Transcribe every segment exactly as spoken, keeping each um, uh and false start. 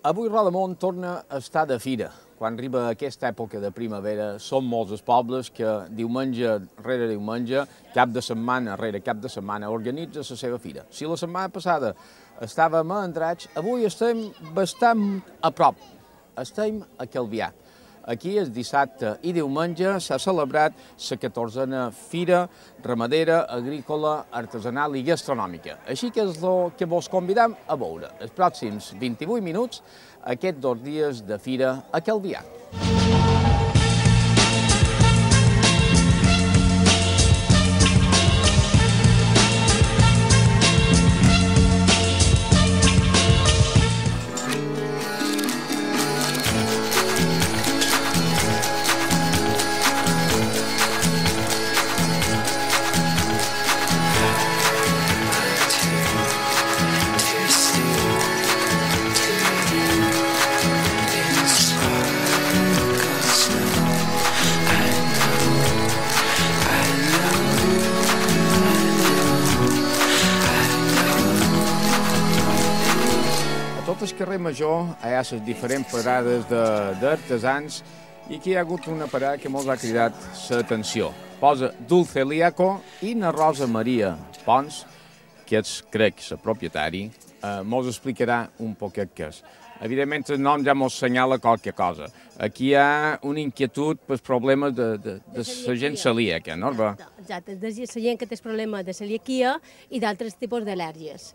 Avui Rodamont torna a estar de fira. Quan arriba aquesta època de primavera, són molts els pobles que diumenge rere diumenge, cap de setmana rere cap de setmana, organitza la seva fira. Si la setmana passada estàvem a Andratx, avui estem bastant a prop. Estem a Calvià. Aquí, el dissabte i diumenge, s'ha celebrat la catorzena Fira Ramadera, Agrícola, Artesanal i Gastronòmica. Així que és el que vos convidam a veure els pròxims vint-i-vuit minuts aquests dos dies de fira a Calvià. A tot el carrer Major hi ha les diferents parades d'artesans i aquí hi ha hagut una parada que mos ha cridat l'atenció. Posa Dulce Liaco i na Rosa Maria Pons, que és, crec, la propietari, eh, mos explicarà un poquet què és. Evidentment, el nom ja mos assenyala qualque cosa. Aquí hi ha una inquietud pels problemes de, de, de la gent celíaca, no? Exacte, de la gent que té problemes de celiaquia i d'altres tipus d'al·lèrgies.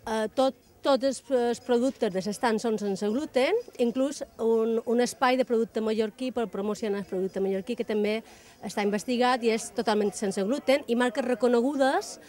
Uh, tot Tots els, els productes de l'estant són sense gluten, inclús un, un espai de producte mallorquí per promocionar el producte mallorquí, que també està investigat i és totalment sense gluten, i marques reconegudes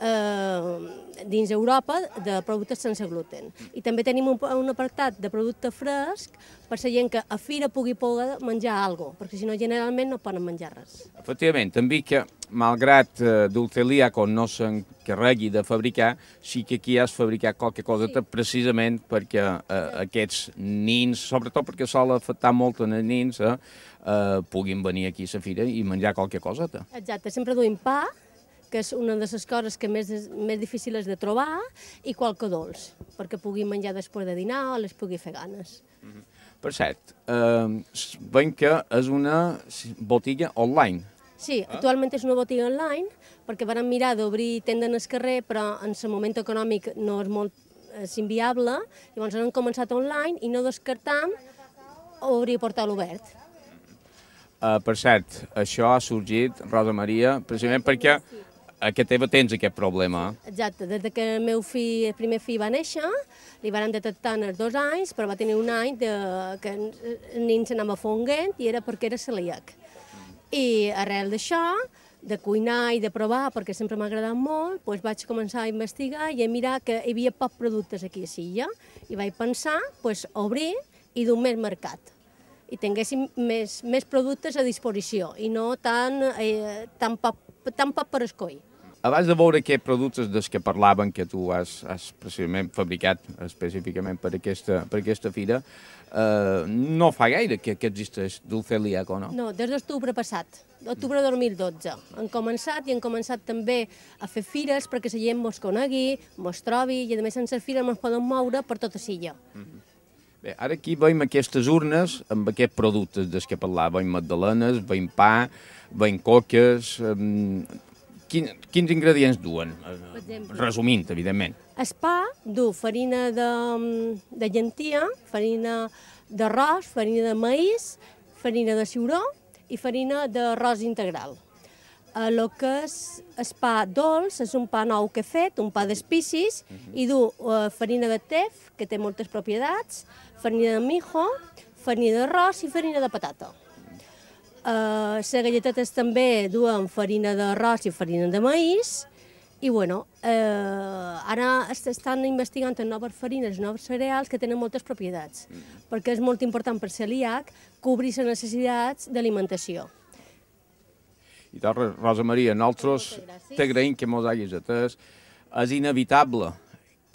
eh, dins Europa de productes sense gluten. I també tenim un, un apartat de producte fresc per la gent que a fira pugui poder menjar alguna cosa, perquè si no generalment no poden menjar res. Efectivament, també que, malgrat eh, Dulce Liaco no s'encarregui de fabricar, sí que aquí has fabricat qualque cosa sí. Precisament perquè eh, aquests nins, sobretot perquè sol afectar molt en els nins, eh, eh, puguin venir aquí a la fira i menjar qualque cosa. Exacte, sempre duim pa, que és una de les coses que més, més difícils de trobar, i qualque dolç, perquè puguin menjar després de dinar o les pugui fer ganes. Mm -hmm. Per cert, eh, veiem que és una botiga online. Sí, actualment és una botiga online, perquè vam mirar d'obrir tenda en el carrer, però en el moment econòmic no és molt és inviable, llavors hem començat online i no descartam obrir portal obert. Uh, per cert, això ha sorgit, Rosa Maria, precisament perquè a que teva tens aquest problema. Exacte, des que el meu fill, el primer fill va néixer, li van detectar en els dos anys, però va tenir un any de, que el nen s'anava fonguent i era perquè era celíac. I arrel d'això, de cuinar i de provar, perquè sempre m'ha agradat molt, doncs vaig començar a investigar i a mirar que hi havia pocs productes aquí a Silla, i vaig pensar doncs, obrir i dur més mercat, i tinguéssim més, més productes a disposició, i no tan, eh, tan, poc, tan poc per escollir. Abans de veure aquests productes dels que parlaven, que tu has, has precisament fabricat específicament per aquesta, per aquesta fira, eh, no fa gaire que, que existeix Dulce Liaco, no? No, des d'octubre passat, d'octubre de dos mil dotze. Han començat i han començat també a fer fires perquè la gent mos conegui, mos trobi, i a més sense fires mos poden moure per tota Silla. Mm -hmm. Bé, ara aquí veiem aquestes urnes amb aquests productes dels que parlava, veiem magdalenes, veiem pa, veiem coques. Um, quin, quins ingredients duen? Resumint, evidentment. El pa du farina de, de llentia, farina d'arròs, farina de maïs, farina de ciuró i farina d'arròs integral. El que és el pa dolç és un pa nou que he fet, un pa d'espicis, uh -huh. i du uh, farina de tef, que té moltes propietats, farina de mijo, farina d'arròs i farina de patata. Uh, les galletetes també duen farina d'arròs i farina de maïs, i bueno, eh, ara estan investigant en noves farines, noves cereals que tenen moltes propietats, mm. perquè és molt important per celíac cobrir les necessitats d'alimentació. I doncs, Rosa Maria, nosaltres t'agraïm que mos hagis atès. És inevitable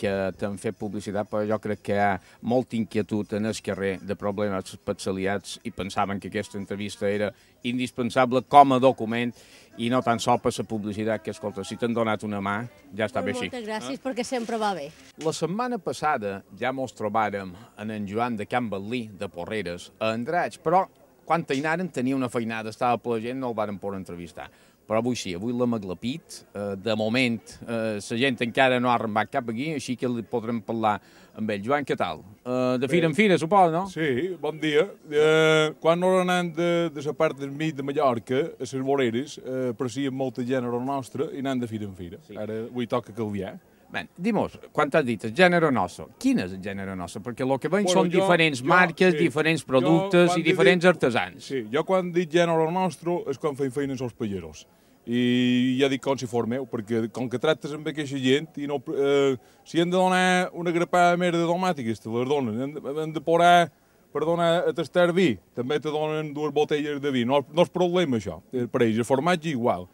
que t'han fet publicitat, però jo crec que hi ha molta inquietud en el carrer de problemes especialitats i pensaven que aquesta entrevista era indispensable com a document i no tan sols per la publicitat, que, escolta, si t'han donat una mà, ja està bé així. Moltes gràcies, eh? Perquè sempre va bé. La setmana passada ja mos trobàrem en en Joan de Can Batlí, de Porreres, a Andratx, però quan hi anaren tenia una feinada, estava per la gent, no el varen poder entrevistar. Però avui sí, avui l'hem aglapit, eh, de moment eh, la gent encara no ha arrenbat cap aquí, així que li podrem parlar amb ell. Joan, què tal? Eh, de fira en fira, suposo, no? Sí, bon dia. Eh, quan no anant de, de la part del mig de Mallorca, a les voreres, eh, aprecien molta gènere nostra i anant de fira en fira. Sí. Ara avui toca canviar. Bé, dimos, quan t'has dit el gènere nostre, quin és el gènere nostre? Perquè el que veiem bueno, són jo, diferents jo, marques, sí. diferents productes i diferents dit, artesans. Sí, jo quan dic gènere nostre és quan feim feina als palleros. I ja dic com si fos meu, perquè com que tractes amb aquesta gent, i no, eh, si hem de donar una grapada més de domàtiques, te les donen. Hem de, hem de posar per donar a tastar vi, també te donen dues botelles de vi. No, no és problema això, per ells, el formatge igual.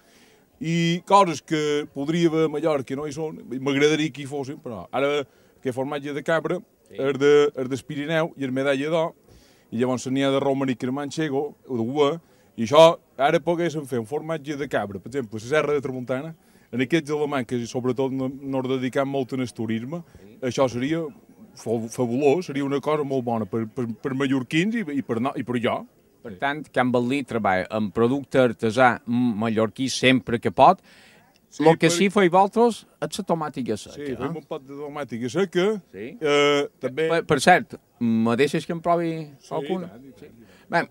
I coses que podria haver a Mallorca no hi són, m'agradaria que hi fossin, però ara que formatge de cabra, sí. és de, del Pirineu i és medalla d'or, i llavors n'hi ha de romanic i de manxego, o de uva, i això ara poguéssim fer un formatge de cabra, per exemple, a la Serra de Tramuntana, en aquests alemanys que sobretot no, no es dediquen molt en el turisme, sí. això seria fabulós, seria una cosa molt bona per, per, per mallorquins i, i, per, no, i per jo. Per tant, Can Batlí treballa amb producte artesà mallorquí sempre que pot. Sí, el que per... sí feia vosaltres és la tomàtica seca. Sí, fem eh? un pot de tomàtica seca. Sí. Eh, també... per, per cert, me deixes que em provi sí, alguna? Sí, sí. Bé,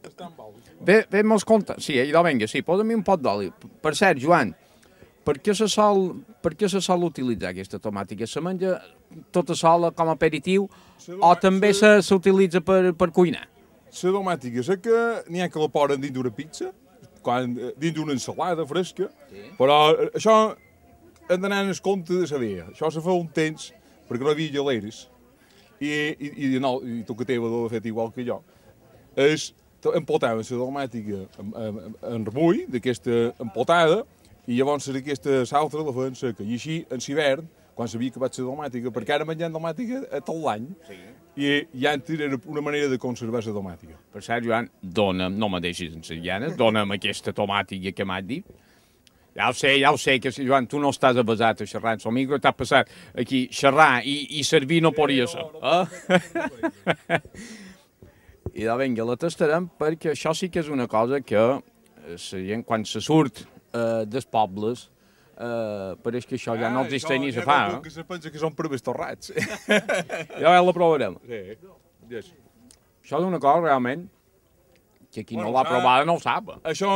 bé, bé me'ls compte. Sí, idò, vinga, sí, posa'm un pot d'oli. Per cert, Joan, per què se sol, per què se sol utilitzar aquesta tomàtica? Se menja tota sola com a aperitiu o també s'utilitza per, per cuinar? La tomàtica seca n'hi ha que la posen dins d'una pizza, quan, dins d'una ensalada fresca, sí. Però això hem d'anar en el compte de saber. Això se fa un temps perquè no hi havia geleres i, i, i, no, i tu que teva l'ha fet igual que jo. És, empotaven la tomàtica en, en, en remull d'aquesta empotada i llavors aquesta l'altra la feien seca. I així, en l'hivern, quan s'havia acabat la tomàtica, perquè ara menjant tomàtica a tot l'any, sí. I, i antes era una manera de conservar la tomàtica. Per cert, Joan, dona'm, no me deixis en les llanes, dona'm aquesta tomàtica que m'has dit. Ja ho sé, ja ho sé, que Joan, tu no estàs avasat a xerrar en el micro, t'has passat aquí xerrar i, i servir no podria ser. Eh? I de vinga, la tastarem perquè això sí que és una cosa que la gent, quan se surt eh, dels pobles, Uh, pareix que això ja ah, no existeix ni se fa. Eh? Que se pensa que són proves torrats. Ja la provarem. Sí. Yes. Això és una cosa realment que qui bueno, no l'ha provada no ho sap. Això,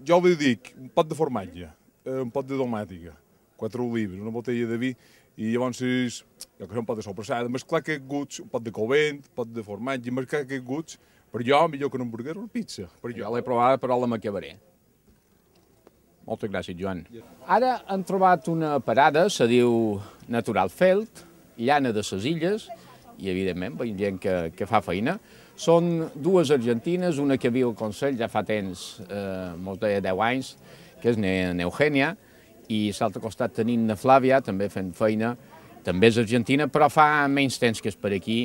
jo li dic, un pot de formatge, un pot de domàtica, quatre olives, una botella de vi, i llavors és, jo que sé, un pot de sobrassada, mesclar aquests guts, un pot de covent, un pot de formatge, mesclar aquests guts, per jo, millor que un hamburguer o una pizza. Per jo. Ja l'he provada, però la m'acabaré. Moltes gràcies, Joan. Ara hem trobat una parada, se diu Natural Felt, llana de ses illes, i evidentment veiem gent que, que fa feina. Són dues argentines, una que viu al Consell ja fa temps, eh, molts deia deu anys, que és n'Eugènia, i a l'altre costat tenim na Flàvia, també fent feina, també és argentina, però fa menys temps que és per aquí,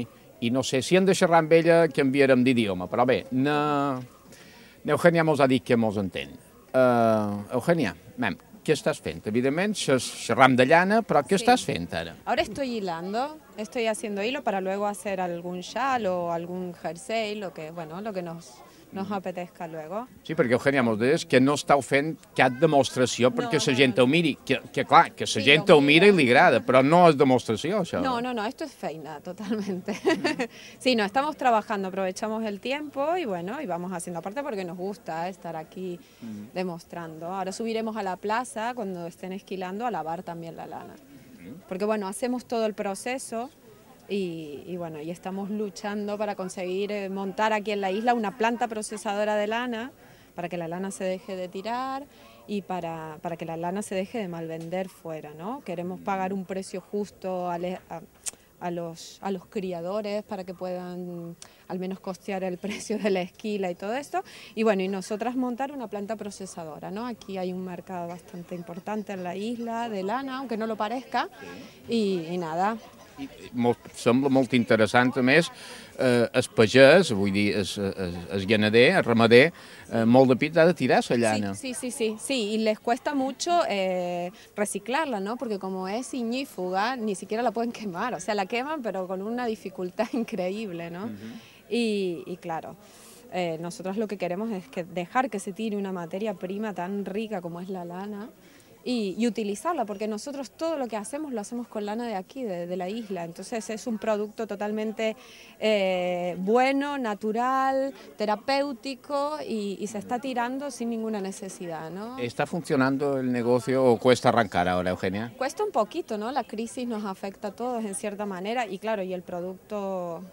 i no sé si hem de xerrar amb ella, canviarem d'idioma, però bé, n'Eugènia mos ha dit que mos entén. Uh, Eugenia, mem, ¿qué estás haciendo? Evidentemente, xerram de llana, pero ¿qué sí. estás haciendo ahora? Ahora estoy hilando, estoy haciendo hilo para luego hacer algún chal o algún jersey, lo que, bueno, lo que nos, nos apetezca luego. Sí, perquè Eugenia mos deies que no estàu fent cap demostració perquè no, la gent no, no. ho miri, que, que clar, que la sí, gent ho mira i li agrada, però no és demostració, això. No, no, no, esto es feina, totalmente. Sí, no, estamos trabajando, aprovechamos el tiempo y bueno, y vamos haciendo, aparte porque nos gusta estar aquí mm. demostrando. Ahora subiremos a la plaza cuando estén esquilando a lavar también la lana. Mm. Porque bueno, hacemos todo el proceso. Y, y bueno, y estamos luchando para conseguir eh, montar aquí en la isla una planta procesadora de lana para que la lana se deje de tirar y para, para que la lana se deje de malvender fuera, ¿no? Queremos pagar un precio justo a, a, a, los, a los criadores para que puedan al menos costear el precio de la esquila y todo esto. Y bueno, y nosotras montar una planta procesadora, ¿no? Aquí hay un mercado bastante importante en la isla de lana, aunque no lo parezca, y, y nada. Sembla molt interessant, a més, eh, el pagès, vull dir, el, el, el ganader, el ramader, eh, molt de pit ha de tirar la llana. Sí, sí, sí, sí, sí, y les cuesta mucho eh, reciclarla, ¿no? Porque como es ignífuga, ni siquiera la pueden quemar, o sea, la queman, pero con una dificultad increíble, ¿no? Uh-huh. y, y claro, eh, nosotros lo que queremos es que dejar que se tire una materia prima tan rica como es la lana, Y, y utilizarla, porque nosotros todo lo que hacemos lo hacemos con lana de aquí, de, de la isla, entonces es un producto totalmente eh, bueno, natural, terapéutico y, y se está tirando sin ninguna necesidad, ¿no? ¿Está funcionando el negocio o cuesta arrancar ahora, Eugenia? Cuesta un poquito, ¿no? La crisis nos afecta a todos en cierta manera y claro, y el producto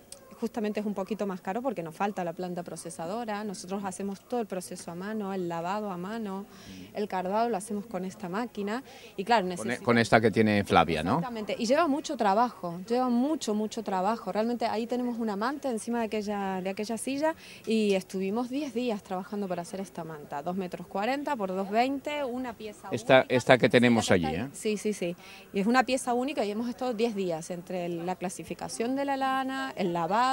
justamente es un poquito más caro porque nos falta la planta procesadora, nosotros hacemos todo el proceso a mano, el lavado a mano, el cardado lo hacemos con esta máquina y claro, necesitamos... Con esta que tiene Flavia, ¿no? Exactamente, y lleva mucho trabajo, lleva mucho, mucho trabajo, realmente ahí tenemos una manta encima de aquella, de aquella silla y estuvimos diez días trabajando para hacer esta manta, dos metros cuarenta por dos veinte, una pieza esta, única. Esta que tenemos sí, allí, ¿eh? Sí, sí, sí, y es una pieza única y hemos estado diez días entre la clasificación de la lana, el lavado,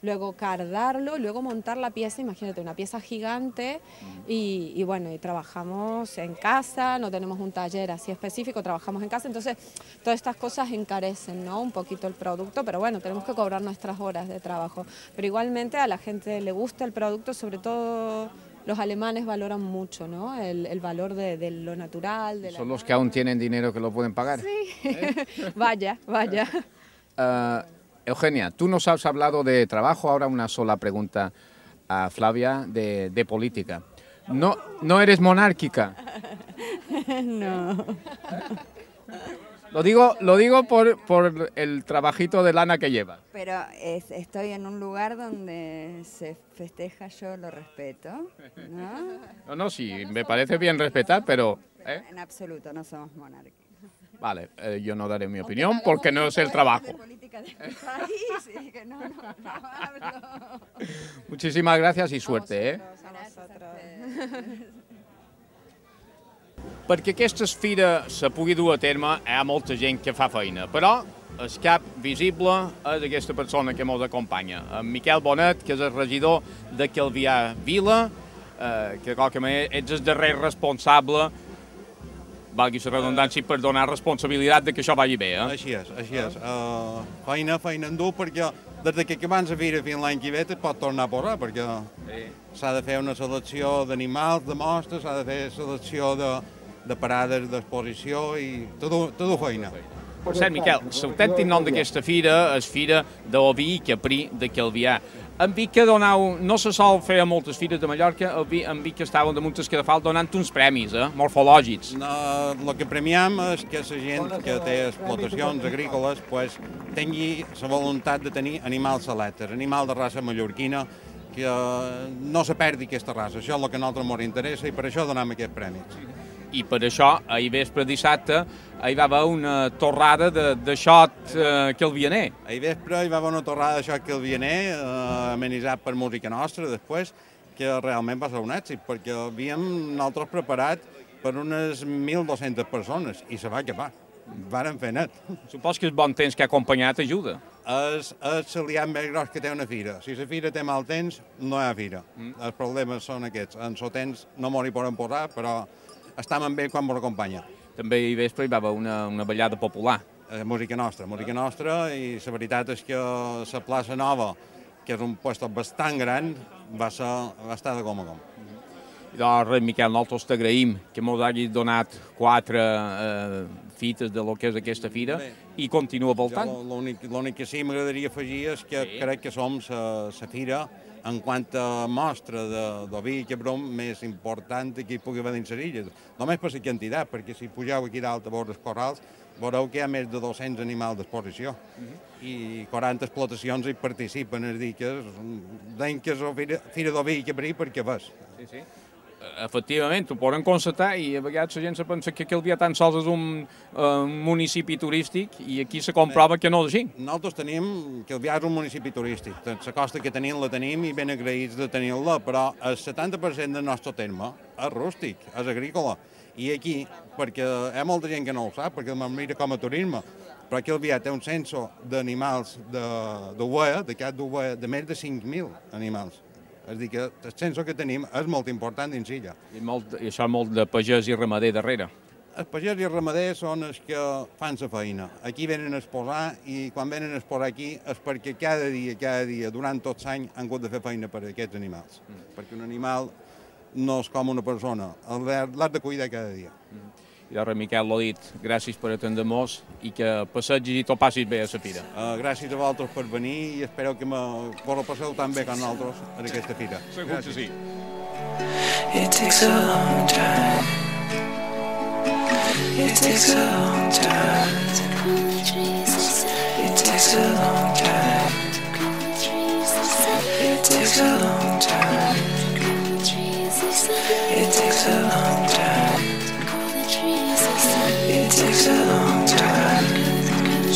luego cardarlo, luego montar la pieza, imagínate, una pieza gigante y, y bueno, y trabajamos en casa, no tenemos un taller así específico, trabajamos en casa, entonces todas estas cosas encarecen, ¿no? Un poquito el producto, pero bueno, tenemos que cobrar nuestras horas de trabajo, pero igualmente a la gente le gusta el producto, sobre todo los alemanes valoran mucho, ¿no? El, el valor de, de lo natural. De ¿Son la los que aún tienen dinero que lo pueden pagar? Sí, ¿Eh? vaya, vaya. Uh, Eugenia, tú nos has hablado de trabajo, ahora una sola pregunta a Flavia de, de política. ¿No, ¿No eres monárquica? No. Lo digo, lo digo por, por el trabajito de lana que lleva. Pero es, estoy en un lugar donde se festeja, yo lo respeto, ¿no? No, no, sí, me parece bien respetar, pero... ¿eh? En absoluto, no somos monárquicos. Vale, eh, yo no daré mi opinión porque no es el trabajo. De política de mi país, y que no, no, no hablo. Muchísimas gracias y suerte, eh? Perquè aquesta fira se pugui dur a terme, hi ha molta gent que fa feina, però el cap visible és aquesta persona que ens acompanya, en Miquel Bonet, que és el regidor de Calvià Vila, eh, que de qualque manera ets el darrer responsable, valgui la redundància, per donar responsabilitat de que això vagi bé, eh? Així és, així és. Uh, feina, feina en dur, perquè des que acabem la fira fins l'any que ve es pot tornar a posar, perquè s'ha de fer una selecció d'animals, de mostres, s'ha de fer selecció de, de parades d'exposició i tot, tot feina. Per cert, Miquel, l'autèntic nom d'aquesta fira és Fira d'Oví i Caprí de Calvià. En Vic que donau, no se sol fer a moltes fires de Mallorca, en Vic que estaven damunt el Cadafal donant uns premis, eh, morfològics. No, el que premiam és que la gent que té explotacions agrícoles pues, tingui la voluntat de tenir animals selectes, animals de raça mallorquina, que no se perdi aquesta raça. Això és el que a nosaltres ens interessa i per això donem aquests premis. I per això, ahir vespre dissabte, hi va haver una torrada de, de xot eh, calvianer. Ahir vespre hi va haver una torrada de xot calvianer, eh, amenitzat per música nostra, després, que realment va ser un èxit, perquè havíem nosaltres preparat per unes mil dues-centes persones, i se va acabar. Varen fer net. Supos que el bon temps que ha acompanyat ajuda. És, és l'aliat més gros que té una fira. Si la fira té mal temps, no hi ha fira. Mm. Els problemes són aquests. En el temps no m'ho hi poden posar, però estem bé quan m'ho acompanya. També ahir vespre hi va haver una, una ballada popular. Eh, música nostra, música nostra, i la veritat és que la plaça Nova, que és un lloc bastant gran, va, ser, va estar de com a com. I doncs, res, Miquel, nosaltres t'agraïm que ens hagis donat quatre eh, fites de lo que és aquesta fira. Bé, i continua voltant. L'únic que sí m'agradaria afegir és que sí. Crec que som la fira en quant a mostra d'oví i cabrom més important que hi pugui haver dins les illes. Només per la quantitat, perquè si pugeu aquí dalt a veure els corrals, veureu que hi ha més de dos-cents animals d'exposició. Uh -huh. I quaranta explotacions hi participen, és a dir, que deien que és la fira, fira d'oví i cabrí perquè ves. Sí, sí. Efectivament, ho poden constatar i a vegades la gent se pensa que Calvià tan sols és un, uh, un municipi turístic i aquí se comprova que no és així. Nosaltres tenim, Calvià és un municipi turístic, la costa que tenim la tenim i ben agraïts de tenir-la, però el setanta per cent del nostre terme és rústic, és agrícola. I aquí, perquè hi ha molta gent que no ho sap, perquè me'n mira com a turisme, però aquí el Vià té un censo d'animals d'ovella, de cap d'ovella, de més de cinc mil animals. És a dir, que el censo que tenim és molt important dins l'illa. I, molt, I això molt de pagès i ramader darrere. Els pagès i els ramaders són els que fan la feina. Aquí venen a exposar i quan venen a exposar aquí és perquè cada dia, cada dia, durant tots anys han hagut de fer feina per a aquests animals. Mm. Perquè un animal no és com una persona, l'has de cuidar cada dia. Mm. I ara Miquel l'ha dit, gràcies per atendre-nos i que passegis i t'ho passis bé a la fira. Uh, gràcies a vosaltres per venir i espero que vos ho passeu tan bé com nosaltres en aquesta fira. Segur que sí. It takes a long time. It takes a long time. It takes a long time. It takes a long time. It takes a long time. It takes a long time.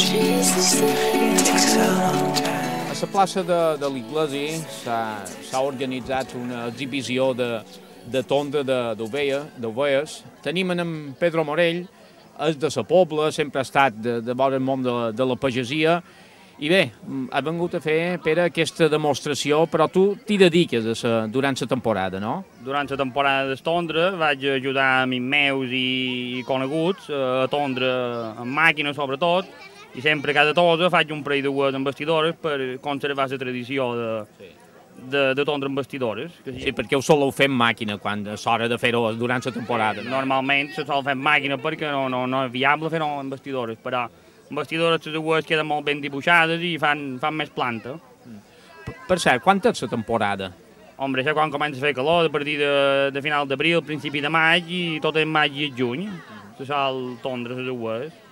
It takes a long time. A la plaça de, de l'Iglesi s'ha organitzat una exhibició de, de tonda d'ovelles. Tenim en Pedro Morell, és de la Pobla, sempre ha estat de, de vora el món de, de la pagesia, i bé, ha vengut a fer, Pere, aquesta demostració, però tu t'hi dediques a sa, durant la temporada, no? Durant la temporada d'estondre vaig ajudar a amics meus i coneguts a tondre amb màquina sobretot, i sempre cada tosa faig un parell de dues embastidores per conservar la tradició de, sí. de, de tondre embastidores. Sí, sí, perquè ho soleu fer amb màquina quan és hora de fer-ho durant la temporada. Sí, normalment se sol fer amb màquina perquè no, no, no és viable fer-ho amb embastidores, però embastidores les dues queden molt ben dibuixades i fan, fan més planta. Per, per cert, quan és la temporada? Hombre, això quan comença a fer calor, a partir de, de final d'abril, principi de maig, i tot és maig i juny, se sol tondre les dues.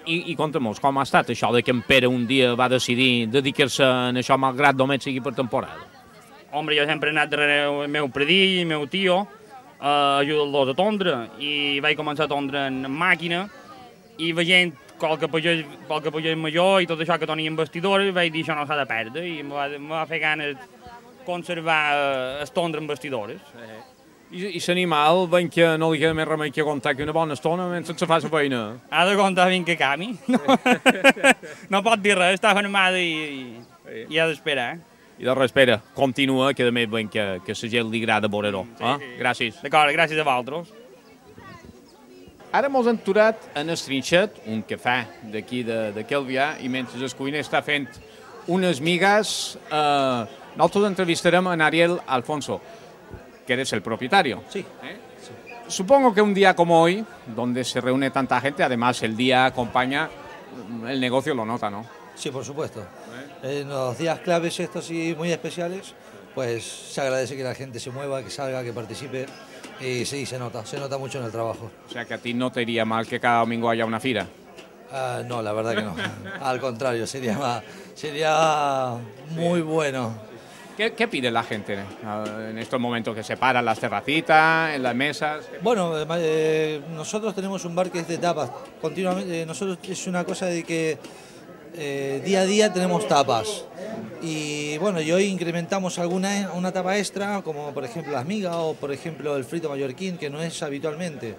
I, i conta'm-nos, com ha estat això de que en Pere un dia va decidir dedicar-se a això malgrat només sigui per temporada? Hombre, jo sempre he anat darrere el meu predill, el meu tio, a ajudar-los a tondre, i vaig començar a tondre en màquina, i veient qualque pagès, qualque pagès major i tot això que tenia embastidores, vaig dir això no s'ha de perdre, i em va, em va fer ganes conservar el tondre en bastidores. I, i l'animal, ben que no li queda més remei que aguantar que una bona estona mentre se fa la feina. Ha d'aguantar fins que cami. No, no pot dir res, està fermada i, i, i ha d'esperar. I de res, espera, continua, que també ben que, que la gent li agrada veure-ho. Sí, eh? Sí. Gràcies. D'acord, gràcies a vosaltres. Ara mos hem aturat en el trinxet, un cafè d'aquí de, de Calvià, i mentre el cuiner està fent unes migas, eh, nosaltres entrevistarem a Ariel Alfonso, que eres el propietario. Sí. ¿Eh? Sí. Supongo que un día como hoy, donde se reúne tanta gente, además el día acompaña, el negocio lo nota, ¿no? Sí, por supuesto. ¿Eh? En los días claves estos y muy especiales, pues se agradece que la gente se mueva, que salga, que participe, y sí, se nota, se nota mucho en el trabajo. O sea que a ti no te iría mal que cada domingo haya una fira. Uh, no, la verdad que no. Al contrario, sería, más, sería muy bueno. ¿Qué, ¿Qué pide la gente en estos momentos que se paran las terracitas, en las mesas? Bueno, eh, nosotros tenemos un bar que es de tapas. Continuamente, eh, nosotros es una cosa de que eh, día a día tenemos tapas. Y bueno, y hoy incrementamos alguna una tapa extra, como por ejemplo las migas o por ejemplo el frito mallorquín, que no es habitualmente.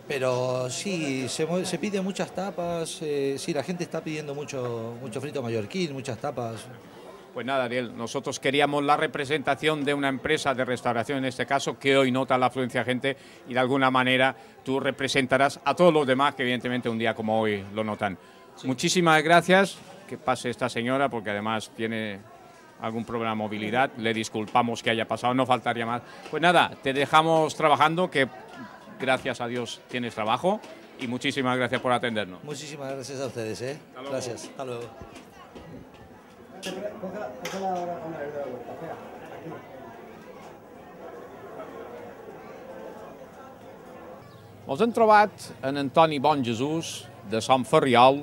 Pero sí, se, se pide muchas tapas, eh, sí, la gente está pidiendo mucho, mucho frito mallorquín, muchas tapas. Pues nada, Ariel, nosotros queríamos la representación de una empresa de restauración, en este caso, que hoy nota la afluencia de gente y de alguna manera tú representarás a todos los demás que evidentemente un día como hoy lo notan. Sí. Muchísimas gracias, que pase esta señora porque además tiene algún problema de movilidad, le disculpamos que haya pasado, no faltaría más. Pues nada, te dejamos trabajando, que gracias a Dios tienes trabajo y muchísimas gracias por atendernos. Muchísimas gracias a ustedes, ¿eh? Hasta gracias, hasta luego. Ens hem trobat en Antoni Bonjesús, de Sant Ferriol,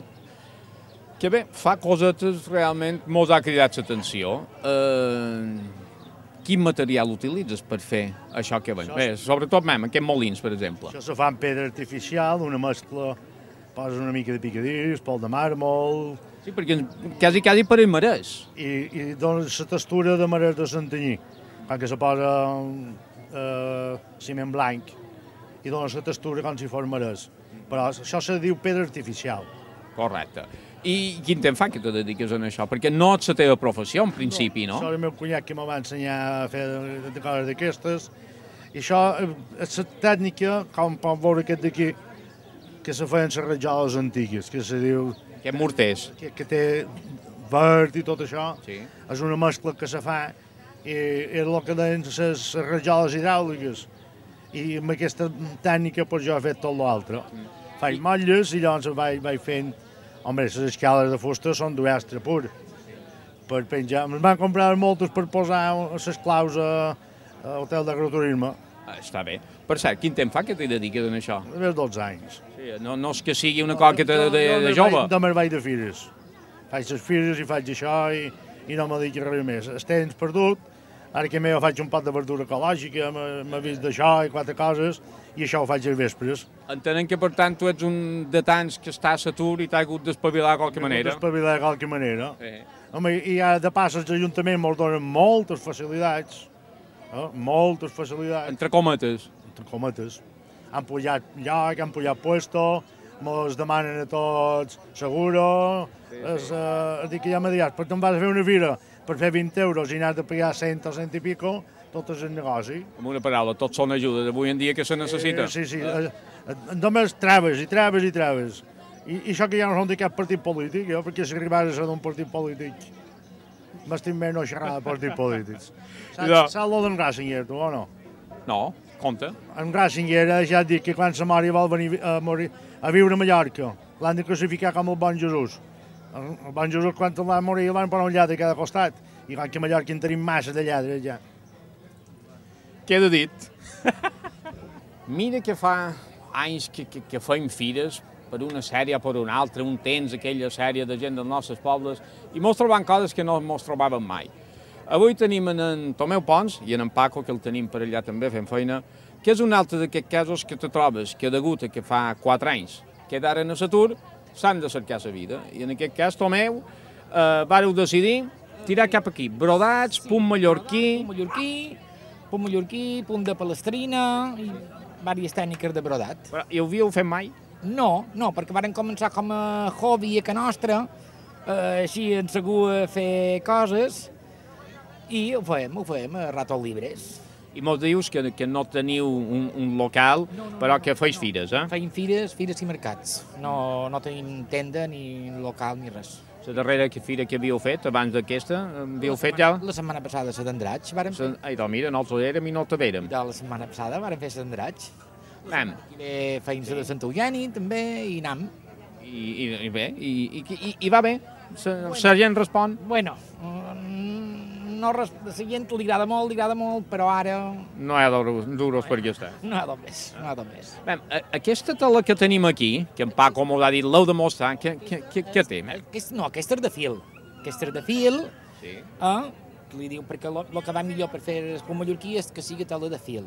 que bé, fa cosetes realment mos ha cridat l'atenció. Eh, quin material utilitzes per fer això que veiem? Bé, sobretot mem, aquests molins, per exemple. Això se fa amb pedra artificial, una mescla, poses una mica de picadís, pol de màrmol... Sí, perquè quasi, quasi pareix marès. I, i dona la textura de marès de Santanyí, quan que se posa eh, ciment blanc i dona la textura com si fos marès. Però això se diu pedra artificial. Correcte. I quin temps fa que te dediques a això? Perquè no és la teva professió, en principi, no? Això és el meu cunyat que me va ensenyar a fer de coses d'aquestes. I això és la tècnica, com pot veure aquest d'aquí, que se feien les rajoles antigues, que se diu... Que morters. Que, que té verd i tot això. Sí. És una mescla que se fa i és el que deien les rajoles hidràuliques. I amb aquesta tècnica pues, jo he fet tot l'altre. Mm. Faig motlles i llavors vaig, vaig fent... Home, les escales de fusta són d'uestre pur. Per penjar... Ens van comprar moltes per posar les claus a, a l'hotel d'agroturisme. Ah, està bé. Per cert, quin temps fa que t'hi dediques a això? Més dotze anys. Sí, no, no és que sigui una cosa que de, de, de jove. Jo me'n vaig de fires. Faig les fires i faig això i, i no me dedico a res més. El temps perdut, ara que jo faig un pot de verdura ecològica, m'he vist d'això i quatre coses, i això ho faig als vespres. Entenem que, per tant, tu ets un de tants que està a l'atur i t'ha hagut d'espavilar de qualque manera. D'espavilar de qualque manera. Sí. Home, i ara de pas els ajuntaments ens donen moltes facilitats, eh? moltes facilitats. Entre cometes. Entre cometes. Han pujat lloc, han pujat puesto, ens demanen a tots seguro. Sí, sí. Es, uh, dic que ja m'ha dit, però te'n vas a fer una fira per fer vint euros i n'has de pagar cent o cent i pico, tot és el negoci. Amb una paraula, tot són ajudes avui en dia que se necessita. Eh, sí, sí, eh, només traves i traves i traves. I, I això que ja no són de cap partit polític, jo, perquè si arribàs a ser d'un partit polític, m'estim bé no xerrar de partits polítics. Saps, saps lo d'en Ratzinger, tu, o no? No, compte. En Ratzinger ha deixat dir que quan sa mare vol venir a, morir, a viure a Mallorca, l'han de classificar com el bon Jesús. El, el bon Jesús, quan el va morir, el van posar un lladre a cada costat. I quan que a Mallorca en tenim massa de lladres, ja. Queda dit. Mira que fa anys que, que, que fem fires, per una sèrie o per una altra, un temps, aquella sèrie de gent dels nostres pobles, i mos trobam coses que no mos trobàvem mai. Avui tenim en, en Tomeu Pons i en, en Paco, que el tenim per allà també fent feina, que és un altre d'aquests casos que te trobes que degut a que fa quatre anys quedaren a l'atur, s'han de cercar la vida. I en aquest cas, Tomeu, eh, vareu decidir tirar cap aquí, brodats, sí, punt mallorquí... Punt mallorquí, punt mallorquí, punt de palestrina i diverses tècniques de brodat. Però hi ho havíeu fet mai? No, no, perquè varen començar com a hobby a ca nostra, eh, així en segur a fer coses, i ho fem, ho fem a ratos llibres. I mos dius que, que no teniu un, un local, no, no, però que feis fires, eh? Feim fires, fires i mercats. No, no tenim tenda, ni local, ni res. La darrera fira que havíeu fet, abans d'aquesta, havíeu fet ja? La setmana passada, a Dendratx, vàrem fer. Ai, doncs mira, nosaltres érem i no te vérem. La setmana passada vàrem fer a Dendratx. Vam. I feim la de Sant Eugeni, també, i anam. I, i, i bé, i, i, i va bé? La bueno, gent respon? Bueno, no, la gent li agrada molt, li agrada molt, però ara... No hi ha duros per aquí està. No hi ha d'on més, no hi ha d'on més. Bé, aquesta tela que tenim aquí, que en Paco m'ho ha dit, l'heu de mostrar, què, què, què, què té? Aquest, no, aquesta és de fil. Aquesta és de fil, sí. eh? Li diu, perquè el que va millor per fer el punt mallorquí és que sigui tela de fil.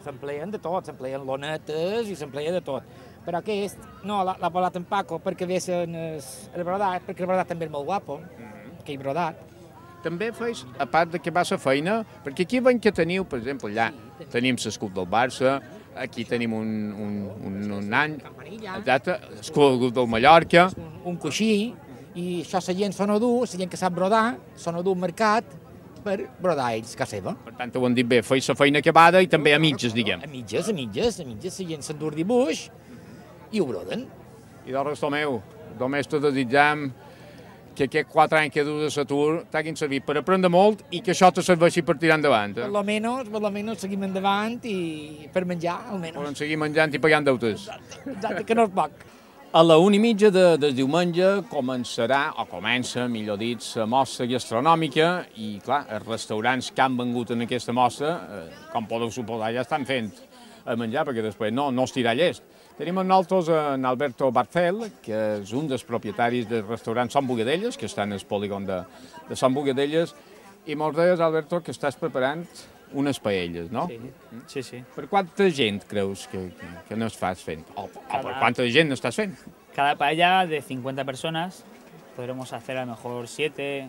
S'empleen de tot, s'empleen lonetes i s'empleia de tot. Però aquest, no, l'ha volat en Paco perquè vesen el brodat, perquè el brodat també és molt guapo, mm-hmm. aquell brodat. També feis, a part de que va la feina, perquè aquí veiem que teniu, per exemple, allà sí, tenim l'escut del Barça, aquí tenim un, un, un, un any, exacte, l'escut del Mallorca. Un, un coixí, i això la gent s'ho no du, la gent que sap brodar, s'ho no du al mercat per brodar ells, casa seva. Per tant, ho han dit bé, feis la feina acabada i també a mitges, diguem. A mitges, a mitges, a mitges, la gent s'endur dibuix i ho broden. I del resto meu, només te desitjam que aquests quatre anys que dus a l'atur t'hagin servit per aprendre molt i que això te serveixi per tirar endavant. Eh? Per lo menos, per lo menos seguim endavant i per menjar, almenys. Poden seguir menjant i pagant deutes. Exacte, exacte, que no és poc. A la una i mitja de, de diumenge començarà, o comença, millor dit, la mostra gastronòmica i, clar, els restaurants que han vengut en aquesta mostra, eh, com podeu suposar, ja estan fent a menjar, perquè després no, no es tirà llest. Tenim amb nosaltres en Alberto Barcel, que és un dels propietaris del restaurant Sant Bogadelles, que està en el polígon de, de Sant Bogadelles, i mos deies, Alberto, que estàs preparant unes paelles, no? Sí, sí, sí. Per quanta gent creus que, que, que no estàs fent? O, o Cada... per quanta gent no estàs fent? Cada paella de cincuenta personas, podremos hacer a lo mejor siete,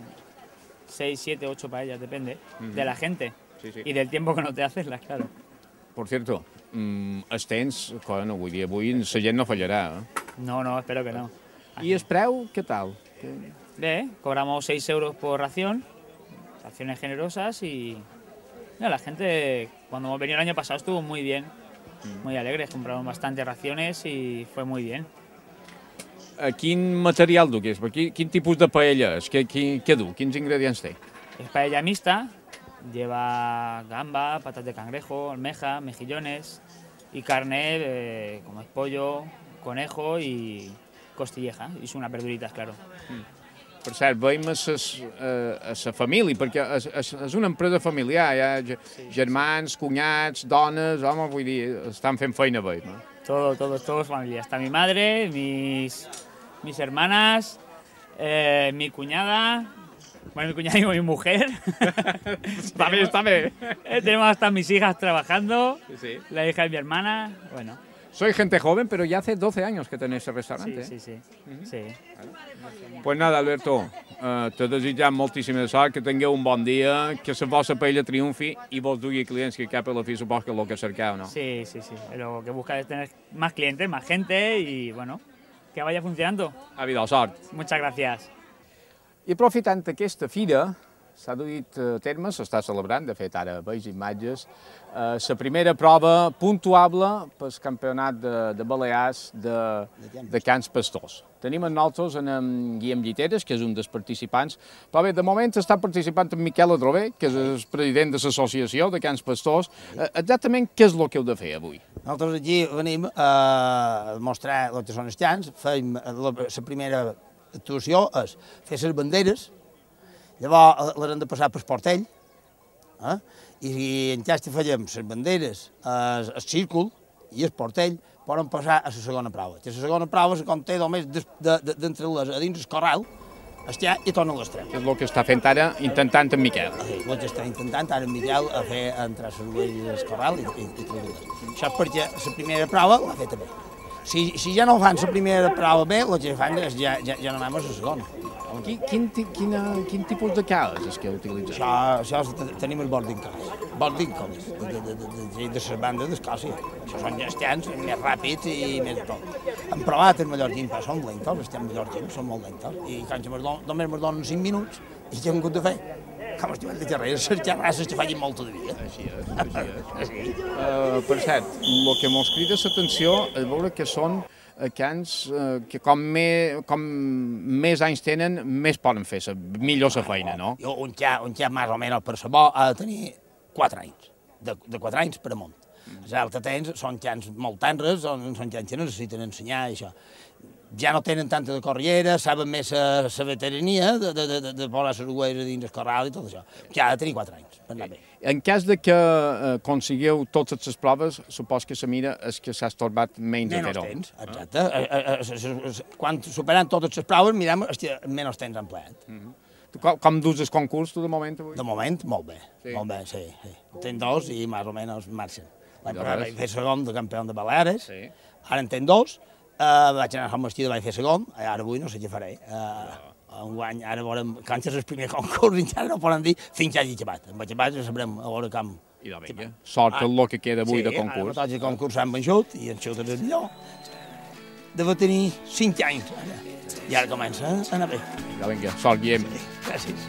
seis, siete, ocho paellas, depende, uh-huh. de la gente sí, sí. y del tiempo que no te haces, claro. Por cierto, mm, els temps, bueno, vull dir, avui la gent no fallarà, eh? No, no, espero que no. I el preu, què tal? Bé, cobramos seis euros por ración, raciones generosas y no, la gente cuando venía el año pasado estuvo muy bien, muy alegres, compraron bastantes raciones y fue muy bien. Quin material du, que és? Quin, quin tipus de paella és? Què, què, què du? Quins ingredients té? Es paella mixta, lleva gamba, patas de cangrejo, almeja, mejillones y carne eh, como es pollo, conejo y costilleja, y son unas verduritas, claro. Mm. Per cert, veiem a la família, perquè és, és, és una empresa familiar, hi ha germans, cunyats, dones, home, vull dir, estan fent feina bé, no? Todo, todo, todo es familia. Está mi madre, mis, mis hermanas, eh, mi cuñada, bueno, mi cuñada y mi mujer. Está bien, está bien. Eh, tenemos hasta mis hijas trabajando, sí, sí. La hija de mi hermana, bueno. Soy gente joven, pero ya hace doce años que tenéis el restaurante. Sí, sí, sí. Uh-huh. Sí. Pues nada, Alberto, uh, te desitjam moltíssima sort, que tingueu un bon dia, que la vostra paella triomfi i vos dugui clients, que cap a la fi supos que és el que cerqueu, no? Sí, sí, sí. Lo que busca es tener más clientes, más gente y, bueno, que vaya funcionando. A vida, sort. Muchas gracias. I aprofitant aquesta fira, s'ha duit a terme, s'està celebrant, de fet ara veig imatges, la eh, primera prova puntuable pel campionat de, de Balears de, de Cans Pastors. Tenim amb nosaltres en, en Guillem Lliteres, que és un dels participants, però bé, de moment està participant en Miquel Adrover, que és el president de l'associació de Cans Pastors. Eh, exactament què és el que heu de fer avui? Nosaltres aquí venim a mostrar el que són els cans, fem la, la primera actuació és fer les banderes. Llavors les hem de passar pel portell, eh? I en cas que fallem les banderes, el, el círcul i el portell poden passar a la segona prova. La segona prova se conté només d'entre-les a dins el corral, estar i torna a l'estrem. És el que està fent ara, intentant en Miquel. Sí, el que està intentant ara en Miquel a fer entrar les ovelles al corral i, i, i treure-les. Això és perquè la primera prova l'ha feta bé. Si, si ja no fan la primera prova bé, el que fan és ja, ja, ja no anem a la segona. Quin, quin, quin, quin tipus de cales és que utilitzeu? Això, això tenim el boarding cars, boarding cars, de, de, de, de, de les bandes d'Escòcia. Això són gestians més ràpids i més tot. Hem provat els mallorquins, però són lentos, els temps mallorquins són molt lentos. I quan només ens donen cinc minuts, i què hem hagut de fer? Com estimem de carrer, les xerrasses que facin molta de vida. Així és, així és. Uh, per cert, el que mos crida l'atenció és veure que són cans que com, me, com més anys tenen, més poden fer la millor la feina, no? Jo, un xa, un xa més o menys per sabó ha de tenir quatre anys, de, de quatre anys per amunt. Els altres tens són xans molt tenres, són, són xans que necessiten ensenyar i això. Ja no tenen tanta de corriera, saben més la veterania de, de, de, de posar les ovelles dins el corral i tot això. Ja ha de tenir quatre anys, per anar bé. En cas de que eh, consigueu totes les proves, supos que la mira és que s'ha estorbat menys a fer-ho. Menys temps, exacte. Ah. Quan superant totes les proves, mirem que menys temps han empleat. Tu, com, com dus el concurs, tu, de moment, avui? De moment, molt bé. Sí. Molt bé, sí. sí. Tenc dos i més o menys marxen. L'any passat vaig fer segon de campió de Balears, sí. Ara en tenc dos, uh, vaig anar a Sant Martí, vaig fer segon, ara avui no sé què faré. Uh, un guany, ara veurem, quan és el primer concurs, encara no poden dir fins que hagi acabat. Amb acabat ja sabrem a veure com... I de vinga, sort el que queda avui sí, de concurs. Sí, ara tots els concurs s'han venjut i en xut és el millor. Deve tenir cinc anys, ara. I ara comença a anar bé. Ja vinga, sort, Guillem. Sí, gràcies.